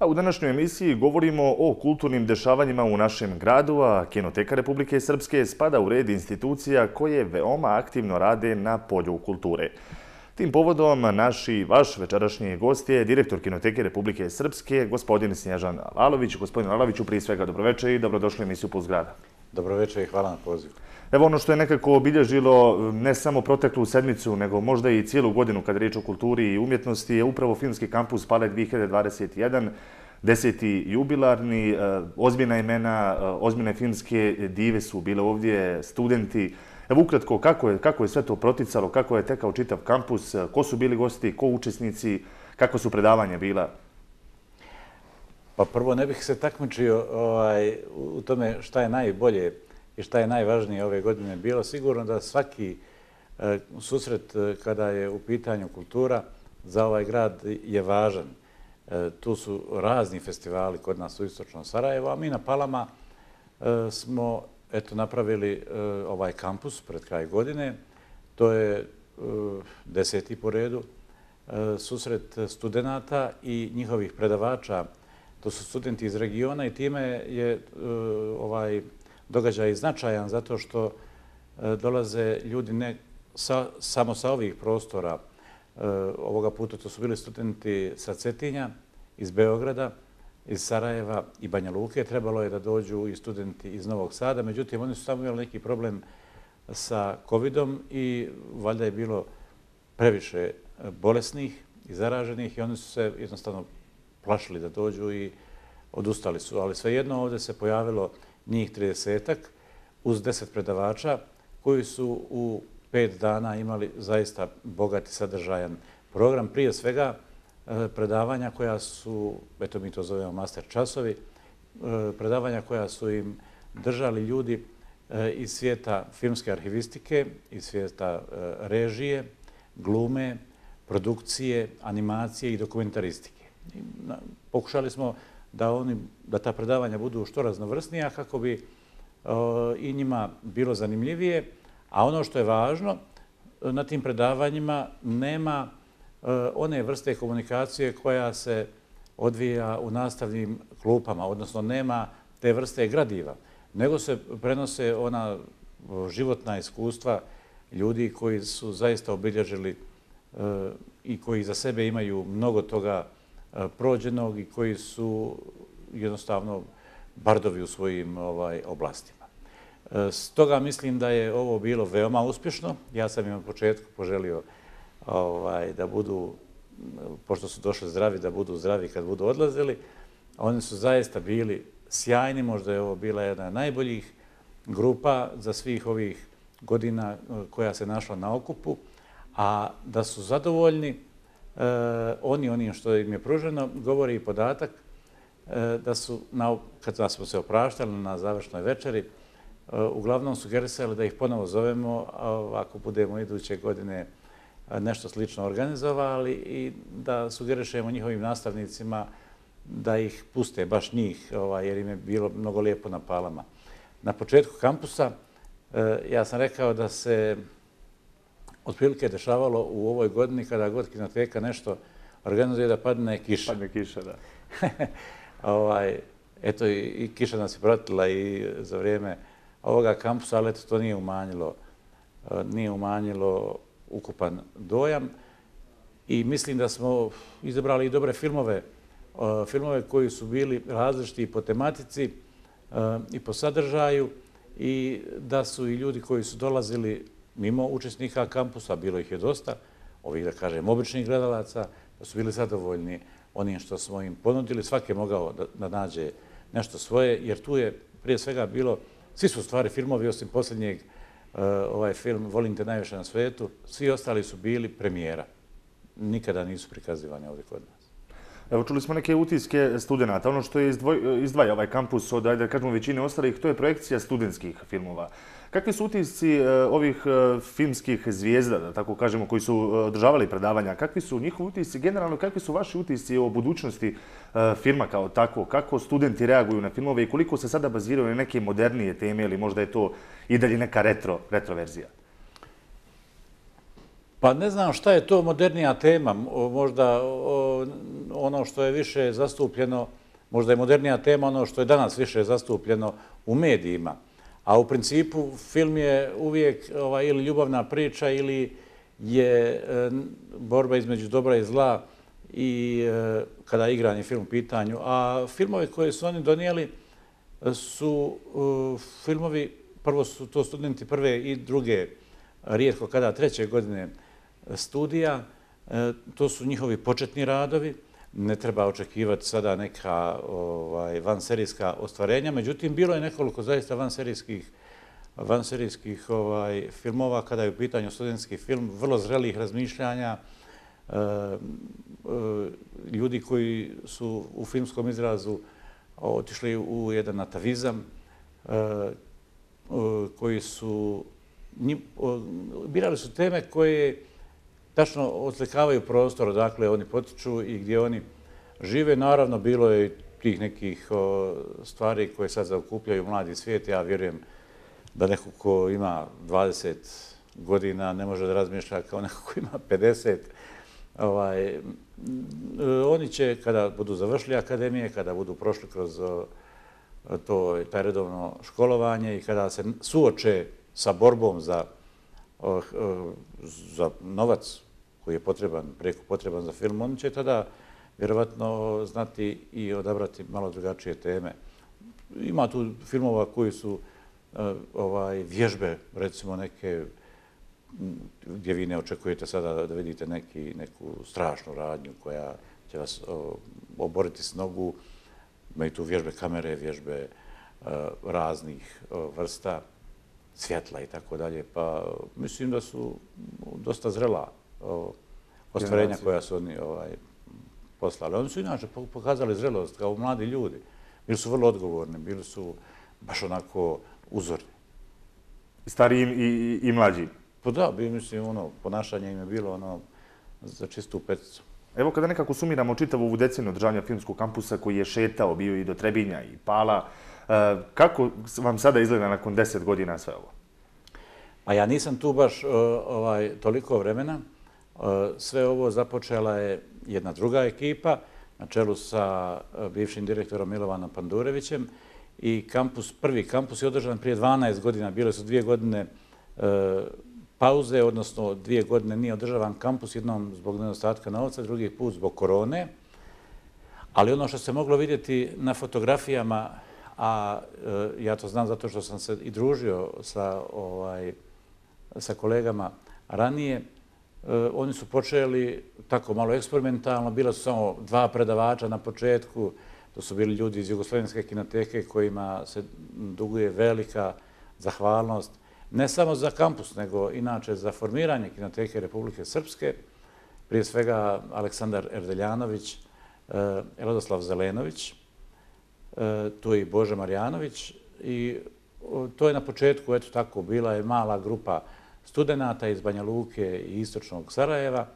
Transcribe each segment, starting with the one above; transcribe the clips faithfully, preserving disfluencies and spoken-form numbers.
A u današnjoj emisiji govorimo o kulturnim dešavanjima u našem gradu, a Kinoteka Republike Srpske spada u red institucija koje veoma aktivno rade na polju kulture. Tim povodom naš i vaš večerašnji gost je direktor Kinoteke Republike Srpske, gospodin Snježan Lalović. Gospodin Laloviću, prije svega dobroveče i dobrodošli u emisiju Puls grada. Dobroveče i hvala na pozivu. Evo ono što je nekako obilježilo ne samo proteklu sedmicu, nego možda i cijelu godinu kad je riječ o kulturi i umjetnosti, je upravo Filmski kampus Pale dvije hiljade dvadeset jedan, deseti jubilarni, ozbiljna imena, ozbiljne filmske dive su bile ovdje, studenti. Evo ukratko, kako je, kako je sve to proticalo, kako je tekao čitav kampus, ko su bili gosti, ko učesnici, kako su predavanja bila? Pa prvo ne bih se takmičio ovaj, u tome šta je najbolje i šta je najvažnije ove godine bilo. Sigurno da svaki e, susret kada je u pitanju kultura za ovaj grad je važan. E, tu su razni festivali kod nas u istočnom Sarajevu, a mi na Palama e, smo eto, napravili e, ovaj kampus pred kraj godine. To je e, deseti po redu e, susret studenata i njihovih predavača. To su studenti iz regiona i time je e, ovaj događaj značajan zato što e, dolaze ljudi ne sa, samo sa ovih prostora. E, ovoga puta to su bili studenti sa Cetinja, iz Beograda, iz Sarajeva i Banja Luke. Trebalo je da dođu i studenti iz Novog Sada, međutim oni su samo imali neki problem sa covidom i valjda je bilo previše bolesnih i zaraženih i oni su se jednostavno plašili da dođu i odustali su. Ali svejedno ovdje se pojavilo njih tridesetak uz deset predavača koji su u pet dana imali zaista bogat i sadržajan program. Prije svega predavanja koja su, eto mi to zovemo master časovi, predavanja koja su im držali ljudi iz svijeta filmske arhivistike, iz svijeta režije, glume, produkcije, animacije i dokumentaristike. I pokušali smo da, oni, da ta predavanja budu što raznovrsnija kako bi o, i njima bilo zanimljivije, a ono što je važno, na tim predavanjima nema o, one vrste komunikacije koja se odvija u nastavnim klupama, odnosno nema te vrste gradiva, nego se prenose ona o, životna iskustva ljudi koji su zaista obilježili o, i koji za sebe imaju mnogo toga prođenog i koji su jednostavno bardovi u svojim ovaj, oblastima. Stoga mislim da je ovo bilo veoma uspješno. Ja sam im od početku poželio ovaj, da budu, pošto su došli zdravi, da budu zdravi kad budu odlazili. Oni su zaista bili sjajni, možda je ovo bila jedna od najboljih grupa za svih ovih godina koja se našla na okupu, a da su zadovoljni Uh, oni onim što im je pruženo, govori i podatak uh, da su, na, kad smo se opraštali na završnoj večeri, uh, uglavnom sugerisali da ih ponovo zovemo, uh, ako budemo iduće godine uh, nešto slično organizovali i da sugerišemo njihovim nastavnicima da ih puste, baš njih, ovaj, jer im je bilo mnogo lijepo na Palama. Na početku kampusa uh, ja sam rekao da se otprilike dešavalo u ovoj godini kada god Kinoteka nešto organizuje da padne kiša. Padne kiša, da. ovaj, eto, i, i kiša nas je pratila i za vrijeme ovoga kampusa, ali eto, to nije umanjilo, nije umanjilo ukupan dojam. I mislim da smo izabrali i dobre filmove, filmove koji su bili različiti po tematici i po sadržaju i da su i ljudi koji su dolazili mimo učesnika kampusa, bilo ih je dosta, ovih, da kažem, običnih gledalaca, da su bili zadovoljni onim što smo im ponudili. Svaki je mogao da, da nađe nešto svoje, jer tu je prije svega bilo, svi su stvari filmovi, osim posljednjeg uh, ovaj film Volim te najviše na svijetu, svi ostali su bili premijera. Nikada nisu prikazivani ovdje kod nas. Evo, čuli smo neke utiske studenta. Ono što je izdvoj, izdvaja ovaj kampus od, ajde da kažemo, većine ostalih, to je projekcija studentskih filmova. Kakvi su utisci ovih filmskih zvijezda, da tako kažemo, koji su održavali predavanja? Kakvi su njihovi utisci? Generalno, kakvi su vaši utisci o budućnosti filma kao takvo? Kako studenti reaguju na filmove i koliko se sada baziraju na neke modernije teme ili možda je to i dalje neka retro, retro verzija? Pa ne znam šta je to modernija tema, možda ono što je više zastupljeno, možda je modernija tema ono što je danas više zastupljeno u medijima. A u principu film je uvijek ili ljubavna priča ili je borba između dobra i zla i kada je igrani film u pitanju. A filmovi koje su oni donijeli su filmovi, prvo su to studenti prve i druge, rijetko kada treće godine studija, to su njihovi početni radovi, ne treba očekivati sada neka vanserijska ostvarenja, međutim, bilo je nekoliko zaista vanserijskih vanserijskih filmova kada je u pitanju studentski film, vrlo zrelih razmišljanja, ljudi koji su u filmskom izrazu otišli u jedan natavizam, koji su birali su teme koje tačno oslikavaju prostor odakle oni potiču i gdje oni žive. Naravno, bilo je i tih nekih stvari koje sad zaokupljaju mladi svijet. Ja vjerujem da neko ko ima dvadeset godina ne može da razmišlja kao neko ko ima pedeset. Oni će, kada budu završili akademije, kada budu prošli kroz taj redovno školovanje i kada se suoče sa borbom za za novac koji je potreban, preko potreban za film, oni će tada vjerovatno znati i odabrati malo drugačije teme. Ima tu filmova koji su vježbe, recimo neke, gdje vi ne očekujete sada da vidite neku strašnu radnju koja će vas oboriti s nogu. Imaju tu vježbe kamere, vježbe raznih vrsta, svjetla i tako dalje, pa mislim da su dosta zrela ostvarenja koja su oni poslali. Oni su inače pokazali zrelost kao mladi ljudi. Bili su vrlo odgovorni, bili su baš onako uzorni. Stariji i mlađi? Pa da, mislim, ono, ponašanje im je bilo ono za čistu peticu. Evo kada nekako sumiramo čitavu ovu deceniju održavanja filmskog kampusa koji je šetao, bio i do Trebinja i Pala, kako vam sada izgleda nakon deset godina sve ovo? Pa ja nisam tu baš toliko vremena. Sve ovo započela je jedna druga ekipa na čelu sa bivšim direktorom Milovanom Pandurevićem i prvi kampus je održan prije dvanaest godina. Bile su dvije godine pauze, odnosno dvije godine nije održavan kampus, jednom zbog nedostatka novca, drugi put zbog korone. Ali ono što se moglo vidjeti na fotografijama, a ja to znam zato što sam se i družio sa kolegama ranije, oni su počeli tako malo eksperimentalno, bila su samo dva predavača na početku, to su bili ljudi iz Jugoslovenske kinoteke kojima se duguje velika zahvalnost, ne samo za kampus, nego inače za formiranje Kinoteke Republike Srpske, prije svega Aleksandar Erdeljanović, Radoslav Zelenović, tu je i Boža Marjanović i to je na početku, eto tako, bila je mala grupa studenata iz Banja Luke i istočnog Sarajeva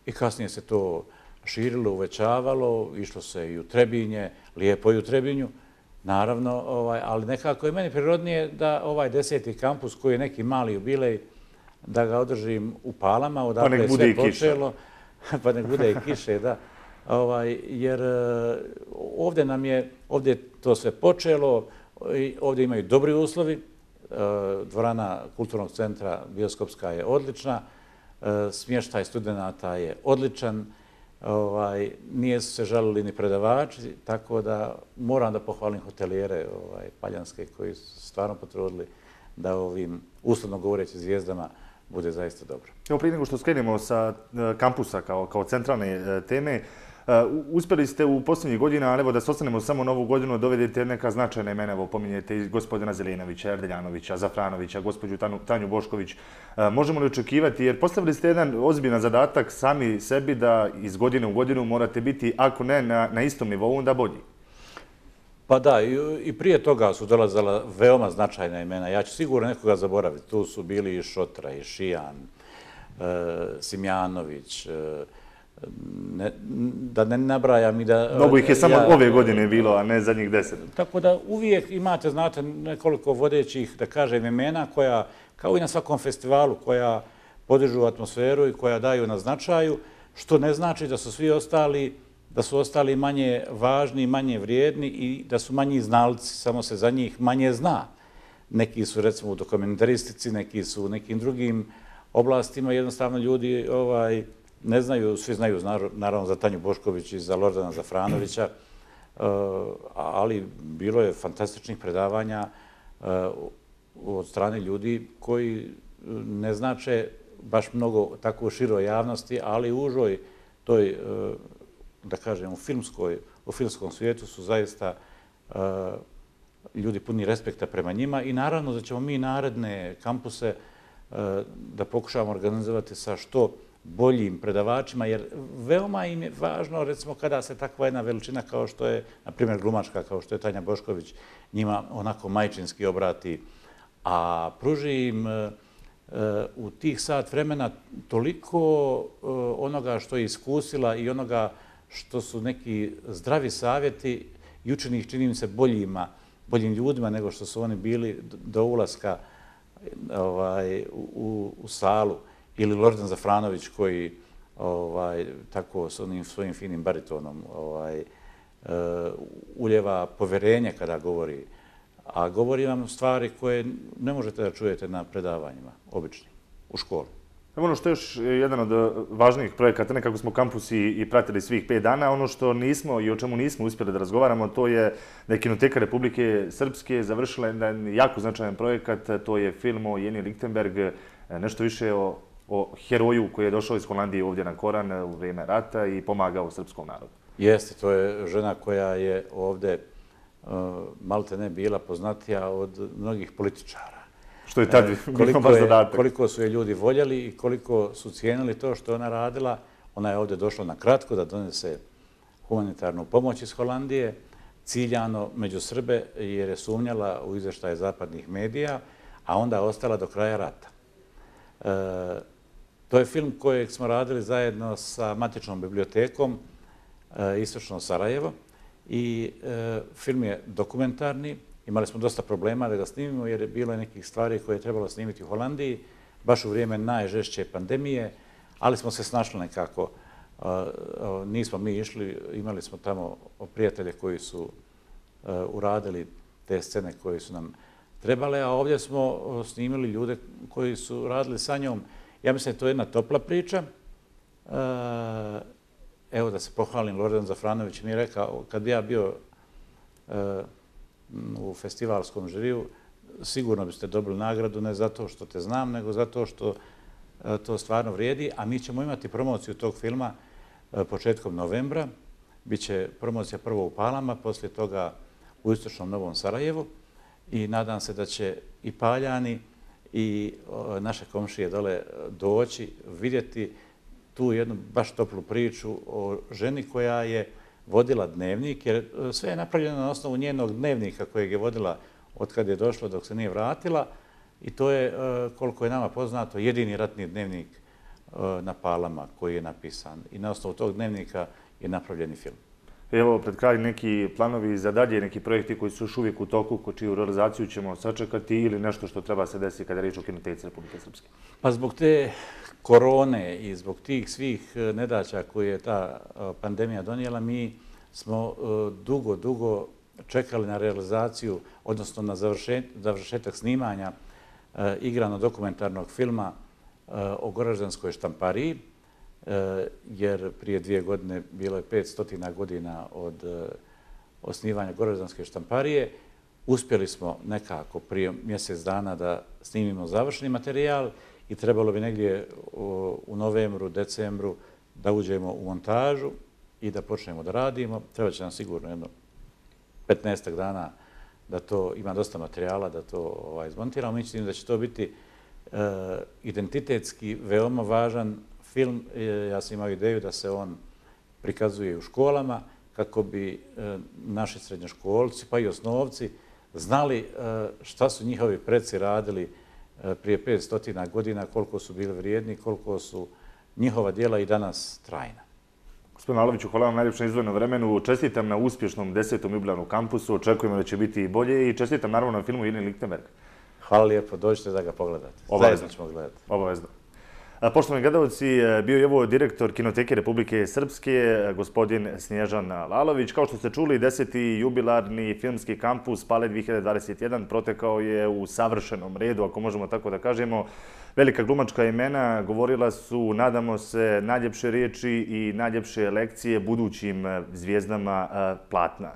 i kasnije se to širilo, uvećavalo, išlo se i u Trebinje, lijepo i u Trebinju, naravno, ali nekako je meni prirodnije da ovaj deseti kampus koji je neki mali jubilej, da ga održim u Palama, odakle je sve počelo. Pa nek bude i kiše, da. Jer ovdje nam je, ovdje je to sve počelo, ovdje imaju dobri uslovi, dvorana kulturnog centra Bioskopska je odlična, smještaj studenata je odličan, nije su se žalili ni predavači, tako da moram da pohvalim hotelijere paljanske koji su stvarno potrudili da ovim, uslovno govoreći, zvijezdama bude zaista dobro. Evo, prije nego što skrenemo sa kampusa kao centralne teme, uspjeli ste u posljednjih godina, ali evo da se ostanemo samo novu godinu, dovedete neka značajna imena, evo pominjete i gospodina Zelenovića, Erdeljanovića, Zafranovića, gospođu Tanju Bošković. Možemo li očekivati, jer postavili ste jedan ozbiljan zadatak sami sebi da iz godine u godinu morate biti, ako ne na istom nivou, onda bolji? Pa da, i prije toga su dolazala veoma značajna imena. Ja ću sigurno nekoga zaboraviti. Tu su bili i Šotra, i Šijan, Simjanović, da ne nabrajam i da... Mnogo ih je samo ove godine bilo, a ne zadnjih deset. Tako da uvijek imate, znate, nekoliko vodećih, da kažem, imena koja, kao i na svakom festivalu, koja podižu atmosferu i koja daju na značaju, što ne znači da su svi ostali, da su ostali manje važni, manje vrijedni i da su manji znalci, samo se za njih manje zna. Neki su recimo u dokumentaristici, neki su u nekim drugim oblastima, jednostavno ljudi ovaj, ne znaju, svi znaju naravno za Tanju Bošković i za Lordana Zafranovića, ali bilo je fantastičnih predavanja od strane ljudi koji ne znače baš mnogo tako u široj javnosti, ali u užoj toj, da kažem, u filmskoj, u filmskom svijetu su zaista ljudi puni respekta prema njima i naravno da ćemo mi naredne kampuse da pokušavamo organizovati sa što boljim predavačima, jer veoma im je važno, recimo, kada se takva jedna veličina kao što je, na primjer, glumačka, kao što je Tanja Bošković, njima onako majčinski obrati, a pruži im u tih sat vremena toliko onoga što je iskusila i onoga što su neki zdravi savjeti i učini ih, čini mi se, boljima, boljim ljudima nego što su oni bili do ulaska ovaj, u, u salu. Ili Lordan Zafranović koji ovaj, tako s onim svojim finim baritonom ovaj, uh, uljeva poverenje kada govori. A govori vam stvari koje ne možete da čujete na predavanjima, običnim, u školi. Ono što je još jedan od važnijih projekata, nekako smo kampus i, i pratili svih pet dana, ono što nismo i o čemu nismo uspjeli da razgovaramo, to je da je Kinoteka Republike Srpske završila jedan jako značajan projekat, to je film o Jeni Lichtenberg, nešto više o o heroju koji je došao iz Holandije ovdje na Koran u vrijeme rata i pomagao srpskom narodu. Jeste, to je žena koja je ovdje uh, malte ne bila poznatija od mnogih političara. Što je tad bilo baš zadatak. Koliko su je ljudi voljeli i koliko su cijenili to što ona radila. Ona je ovdje došla na kratko da donese humanitarnu pomoć iz Holandije, ciljano među Srbe jer je sumnjala u izvještaje zapadnih medija, a onda ostala do kraja rata. Uh, To je film kojeg smo radili zajedno sa Matičnom bibliotekom Istočno Sarajevo i film je dokumentarni. Imali smo dosta problema da ga snimimo jer je bilo nekih stvari koje je trebalo snimiti u Holandiji, baš u vrijeme najžešće pandemije, ali smo se snašli nekako. Nismo mi išli, imali smo tamo prijatelje koji su uradili te scene koje su nam trebale, a ovdje smo snimili ljude koji su radili sa njom. Ja mislim da je to jedna topla priča. Evo da se pohvalim, Lordan Zafranović mi je rekao, kad bi ja bio u festivalskom žiriju, sigurno biste dobili nagradu, ne zato što te znam, nego zato što to stvarno vrijedi, a mi ćemo imati promociju tog filma početkom novembra. Biće promocija prvo u Palama, poslije toga u Istočnom Novom Sarajevu i nadam se da će i Paljani i naše komšije dole doći, vidjeti tu jednu baš toplu priču o ženi koja je vodila dnevnik, jer sve je napravljeno na osnovu njenog dnevnika kojeg je vodila od kad je došla dok se nije vratila i to je, koliko je nama poznato, jedini ratni dnevnik na Palama koji je napisan i na osnovu tog dnevnika je napravljeni film. Evo, pred kraj neki planovi za dalje, neki projekti koji su još uvijek u toku, ko čiju realizaciju ćemo sačekati ili nešto što treba se desiti kada je riječ o Kinoteci Republike Srpske? Pa zbog te korone i zbog tih svih nedaća koje je ta pandemija donijela, mi smo dugo, dugo čekali na realizaciju, odnosno na završetak snimanja igrano-dokumentarnog filma o Goraždanskoj štampariji, jer prije dvije godine bilo je petstotina godina od osnivanja Goraždanske štamparije. Uspjeli smo nekako prije mjesec dana da snimimo završni materijal i trebalo bi negdje u novembru, decembru da uđemo u montažu i da počnemo da radimo. Treba će nam sigurno jedno petnaestak dana da to ima dosta materijala, da to izmontiramo. Mislim da će to biti identitetski veoma važan film. Ja sam imao ideju da se on prikazuje u školama kako bi naši srednjoškolci pa i osnovci znali šta su njihovi preci radili prije petstotina godina, koliko su bili vrijedni, koliko su njihova djela i danas trajna. Gospodin Aloviću, hvala vam najljepše na izdvojenom vremenu. Čestitam na uspješnom desetom jubilarnom kampusu. Očekujemo da će biti i bolje i čestitam naravno na filmu Jeni Lichtenberg. Hvala lijepo, dođite da ga pogledate. Obavezno ćemo gledati. Obavezno. Poštovani gledalci, bio je ovo direktor Kinoteke Republike Srpske, gospodin Snježan Lalović. Kao što ste čuli, deseti jubilarni filmski kampus Pale dvije hiljade dvadeset jedan protekao je u savršenom redu, ako možemo tako da kažemo. Velika glumačka imena govorila su, nadamo se, najljepše riječi i najljepše lekcije budućim zvijezdama platna.